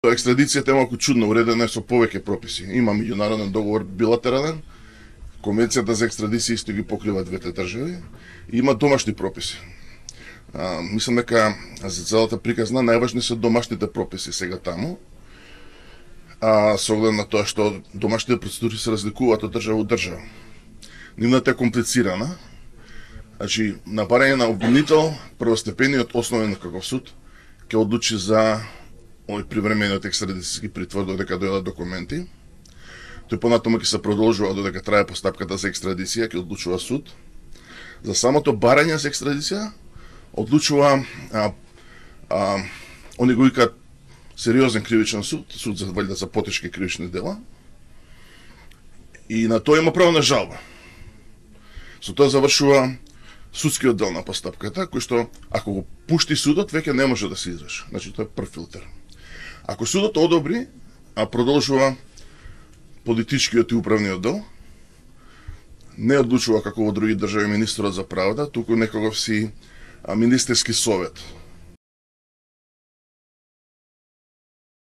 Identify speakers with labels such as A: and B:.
A: Екстрадицијата е малку чудно уредена со повеќе прописи. Има меѓународен договор билатерален, конвенцијата за екстрадиција исто ги покрива двете држави, и има домашни прописи. Мислам дека за целата приказна најважни се домашните прописи сега таму. Со оглед на тоа што домашните процедури се разликуваат од држава од држава. Нивната е комплицирана. Значи, на барање на обвинител, првостепениот основен каков суд ќе одлучи за овој привремениот екстрадицијски притвор додека дојдат документи. Тој понатаму ќе се продолжува додека трае постапката за екстрадиција, ќе одлучува суд. За самото барање за екстрадиција одлучува они го викаат сериозен кривичен суд, суд за валјда за потешки кривични дела. И на тоа има право на жалба. Со тоа завршува судскиот дел на постапката, кој што ако го пушти судот, веќе не може да се изврши. Значи тоа е прв филтер. Ако судот одобри, продолжува политичкиот и управниот дел, не одлучува како во други држави министерот за правда, туку некогаш си министерски совет